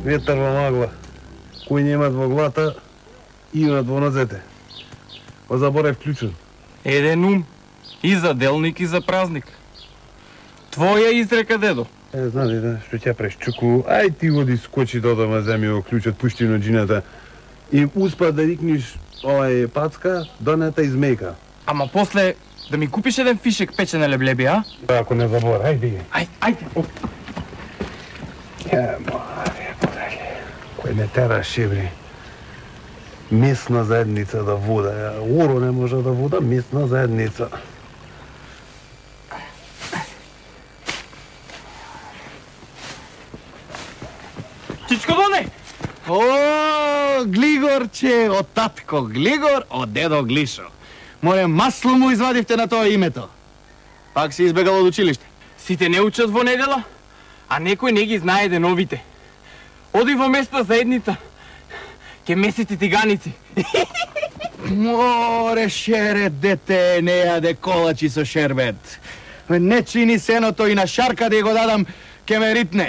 ветар во магла. Кој немат во глата, имат во нозете. Заборев клучен. Еден ум, и за делник, и за празник. Твоја изрека, дедо. Знам, дедо, што ќе преш чуку, ај ти оди скочи до дома, земи го клучот, пушти на джината и успа да рикниш пацка, донета и змејка. Ама после да ми купиш еден фишек печене леблеби, а? Ако не забор, ајде. Ајде. Маре, подале. Кој не тера шебри. Местна заедница да вода. Оро не може да вода, местна заедница. Чичко Доне! О, Глигорче, од татко Глигор, од дедо Глишо. Море масло му извадивте на тоа името. Пак си избегал од училиште. Сите не учат во недела, а некој не ги знае деновите. Оди во местна заедница, ке месите тиганици. Море, шерет, дете, не јаде колачи со шербет. Не чини сеното и на шарка да го дадам, ке ме ритне.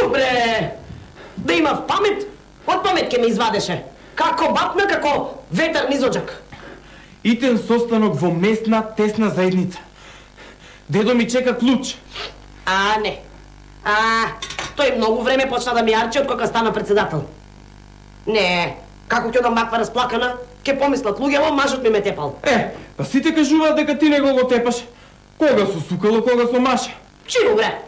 Бре, да имав памет, од памет ке ме извадеше. Како батна, како ветар низоджак. Итен состанок во местна тесна заедница. Дедо ми чека клуч. Не. Тој многу време почна да ми арчи од кога стана председател. Не, како ќе да маква расплакана, ке помислат луѓето, мажот ми ме тепал. Па сите кажуваат дека ти не го тепаш. Кога со сукало, кога со маша. Чину, бре.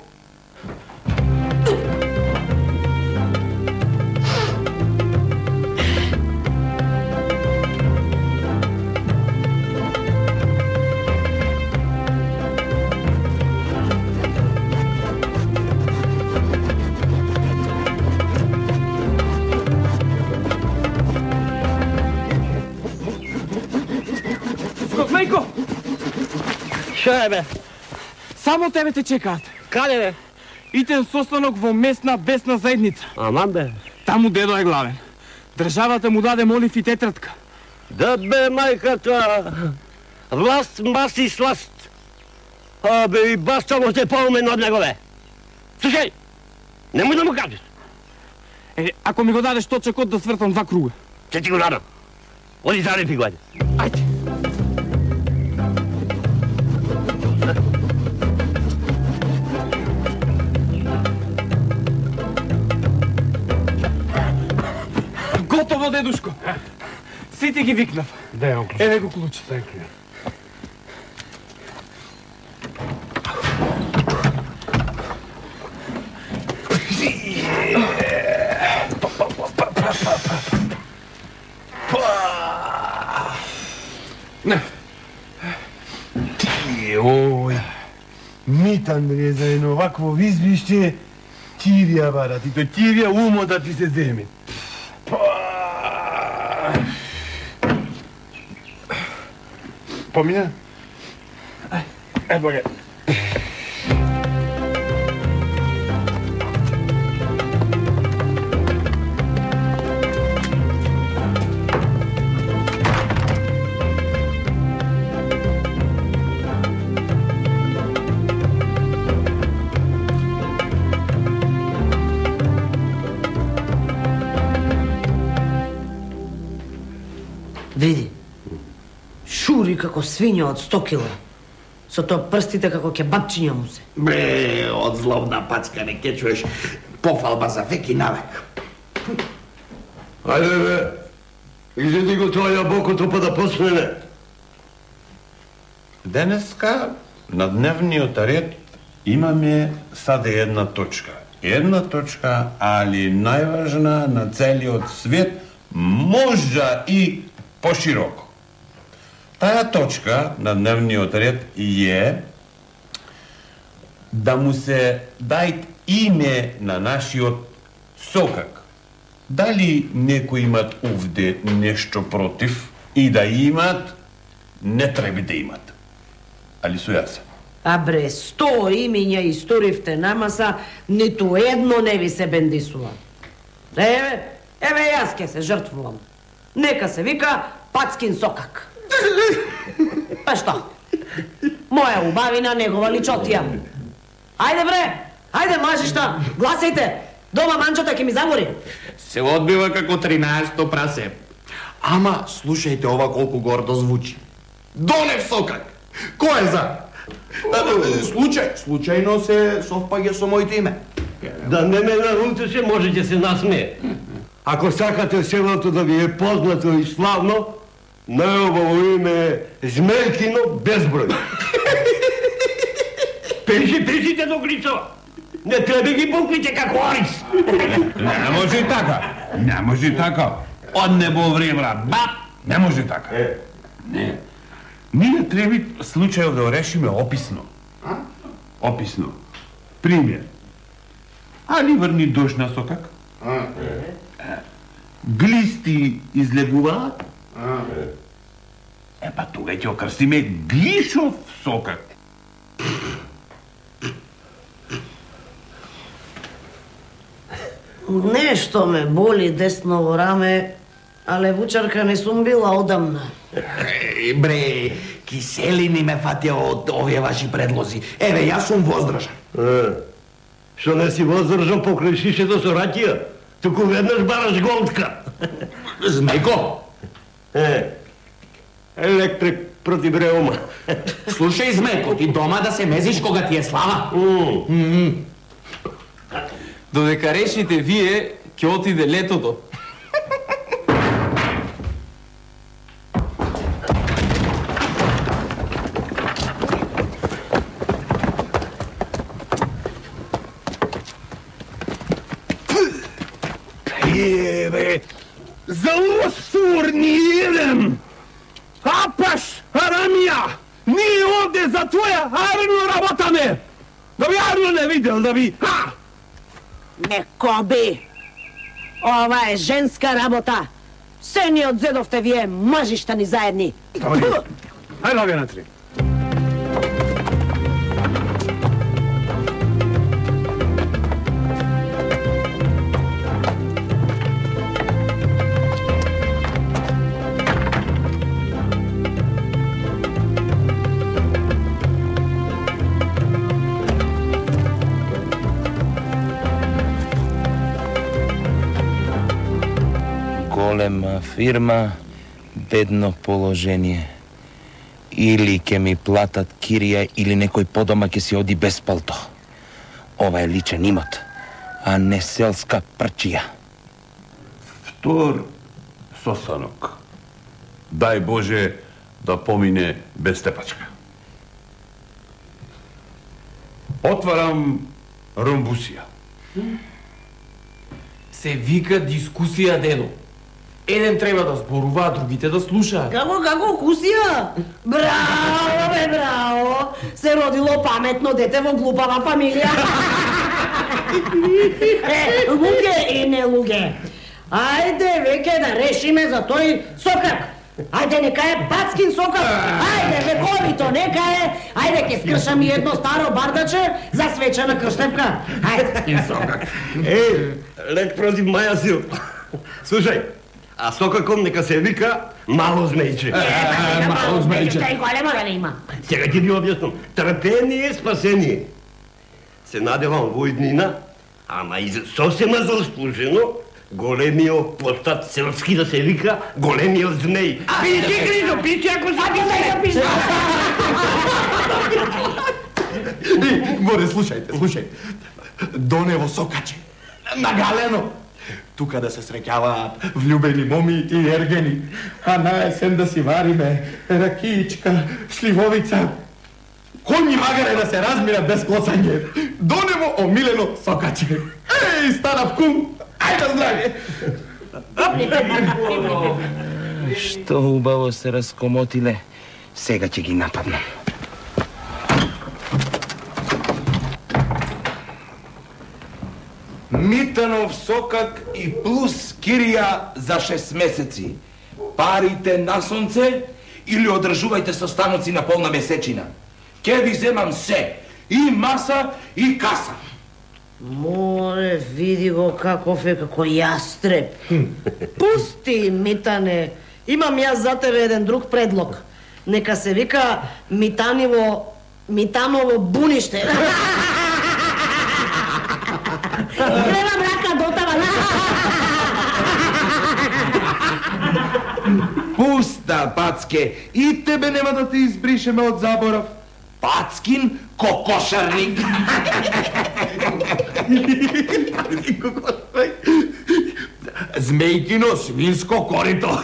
Козмејко! Шо е, бе? Само тебе те чекаат. Каде, бе? Итен состанок во местна бесна заедница. Аман, бе. Таму дедо е главен. Државата му даде молив и тетратка. Да бе, мајката. Власт, маси, сласт. Бе, и баста му се поумен од него, бе. Слушај, немој да му кажеш. Ако ми го дадеш точакот да свртам 2 круга. Ќе ти го дадам. Оди зарепи го, ајде. Ајде. Готово, дедушко. Сите ги викнав. Дај го клучот. Еве го клучот. Ој, Митан bre за едно вакво визбиште, тивија барат, и то тивија умо да ти се земи. Помина? Боге. Види, шури како свиња од 100 кила. Со тоа прстите како кебапчиња му се. Бре, од злобна пацка не ке чуеш пофалба за век и навек. Ајде бе, изеди го тоа јабокото па да посмене. Денеска на дневниот ред имаме саде една точка. Една точка, али најважна на целиот свет, можда и пошироко. Таа точка на дневниот ред е да му се дајт име на нашиот сокак. Дали некои имат овде нешто против и да имат, не треба да имат. Али со јас. А бре, 100 имиња историвте намаса, ниту едно не ви се бендисува. Еве јас ке се жртвувам. Нека се вика Пацкин Сокак. Па што? Моја убавина, негова личотија. Ајде бре, ајде мажишта, гласајте. Дома манчата ќе ми загори. Се одбива како 13-то прасе. Ама, слушајте ова колку гордо звучи. Донев Сокак! Кој е за? Случајно се совпаѓа со моите име. Да не ме нарутеше, можете се насмее. Ако сакате селото да ви е познато и славно, најубаво име е Змелкино безброј. Пишите до Гличова. Не треба ги буквите како Орис. Не може така. Не може така. Од небо време, бап, не може така. Не. Ние треба случајот да решиме описно. Описно. Пример. Али врни дожд на Сокак? Глисти излегуваат? Па тога ќе окрстиме Глишов Сокак. Нешто ме боли десно во раме, а левучарка не сум била одамна. Бре, киселини ме фатија од овие ваши предлози. Еве, јас сум воздржан. Што не си воздржан покрај шишето со ракија? Туку веднаш бараш голтка. Змејко, Електрик против реума. слушај Змејко, ти дома да се мезиш кога ти е слава. Додека решите вие, ќе отиде летото. Еве, за осур ни еден! Апаш, Арамија! Ние овде за твоја армию работаме! Да би армию не видел, да би... Не коби! Ова е женска работа! Се ни одзедовте вие мажиштани заедни! Ајде, вие на три. Голема фирма, бедно положение. Или ќе ми платат кирија, или некој подома ќе си оди без палто. Ова е личен имот, а не селска прчија. Втор состанок. Дај Боже да помине без тепачка. Отварам ромбусија. Се вика дискусија, дедо. Еден треба да зборува, а другите да слушаат. Како кусија? Браво, бе, браво! Се родило паметно дете во глупава фамилија. Луѓе и не луѓе. Ајде веќе да решиме за тој Сокак. Ајде, нека е Пацкин Сокак. Ајде, вековито, нека е. Ајде, ке скршам и едно старо бардаче за свечена крштевка. Ајде. Сокак. Лек против Маја Сил. Слушај, а Сокаком нека се вика Мало Змејче. Мало Змејче. Што и големо да не има. Сега ќе ви објаснам. Трпение, спасение. Се надевам во иднина, ама и сосема заслужено, големиот постат селски да се вика големиот змеј. Пиши, Грижо, пиши, ако се пиши. Горе, слушајте. Донево Сокаче, нагалено. Тука да се среќаваат влюбени моми и ергени, а на есен да си вариме ракиичка, сливовица. Конји магаре да се размират без клоцање. Донево омилено Сокаче. Еј, станав кум, ајде здравје. Што убаво се раскомотиле, сега ќе ги нападнам. Митанов Сокак и плюс кирија за 6 месеци. Парите на сонце или одржувајте состаноци на полна месечина. Ке ви земам се. И маса, и каса. Море, види го каков е, како јастреб. Пусти, Митане. Имам јас за тебе еден друг предлог. Нека се вика Митаново буниште. Гледам рака дотава. Пуста, Пацке, и тебе нема да те избришеме од заборав. Пацкин кокошарник. Змејкино свинско корито.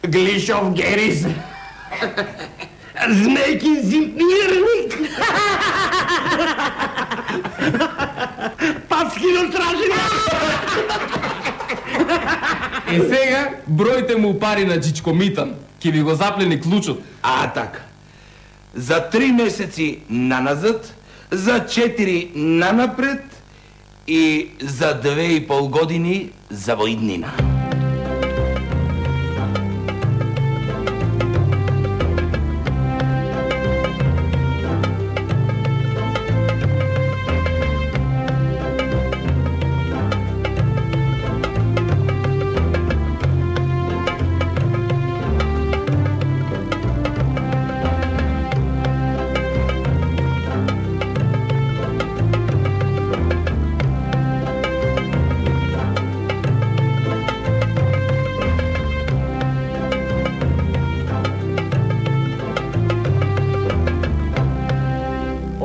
Глишов Герис. Змејкин зимпирник. Пацкино стражник. Е сега, бројте му пари на Чичко Митан. Ке ви го заплени клучот. А така. За 3 месеци наназад, за 4 нанапред и за 2,5 години за во иднина.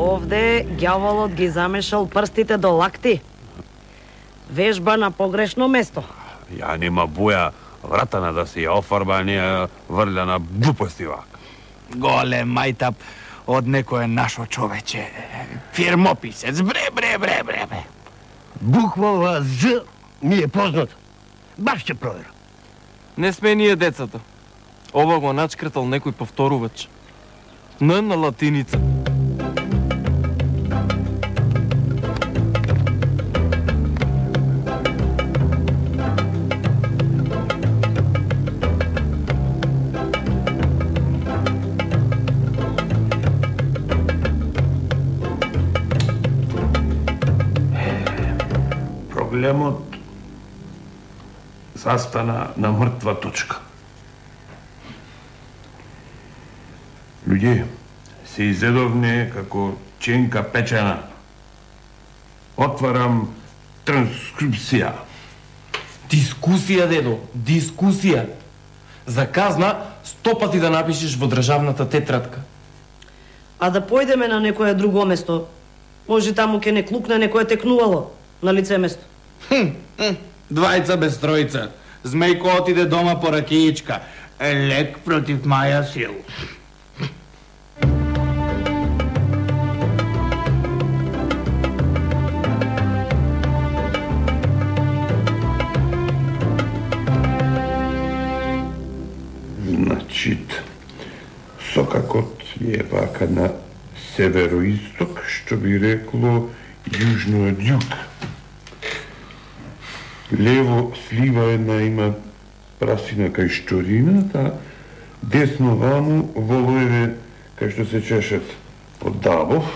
Овде ѓаволот ги замешал прстите до лакти. Вежба на погрешно место. Ја нема боја вратана да се ја офарба, а не ја врля на глупости вак. Голем мајтап од некое нашо човече. Фирмописец. Бре. Буквава З ми е познат. Баш ќе проверам. Не сме ние децата. Ова го начкртал некој повторувач. Н на латиница. Проблемот застана на мртва точка. Луѓе, се изедовне како ченка печена. Отварам транскрипција. Дискусија, дедо, дискусија. За казна 100 пати да напишеш во државната тетрадка. А да појдеме на некое друго место. Може таму ке не клукне некое текнувало на лице место. Двајца без тројца. Змејко отиде дома по ракијичка. Лек против маја сил. Значит, сокакот е вака на североисток, што би рекло јужно од југ. Лево слива една има прасина кај Шторината, десно ваму волоеве кај што се чешат од Дабов.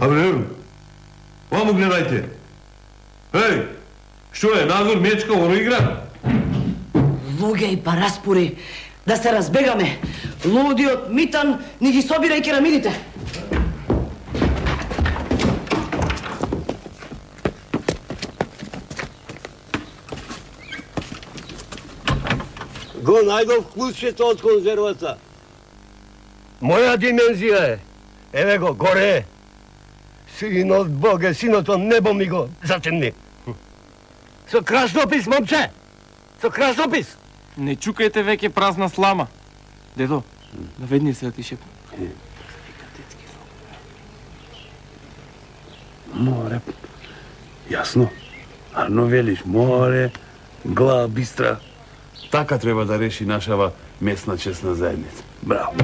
Абре, ваму гледајте. Еј, што е, надвор мечка во игра? Луѓе и параспори, да се разбегаме. Лудиот Митан ни ги собира и керамидите. Го најдов клучето од конзервата. Моја димензија е. Еве го, горе е. Синот Боге, синот од небо ми го затемни. Со краснопис, момче! Со краснопис! Не чукајте веќе празна слама. Дедо, наведни се да ти шепнам. Море. Јасно. Арно велиш, море, глава бистра. Така треба да реши нашава месна чесна заедница. Браво.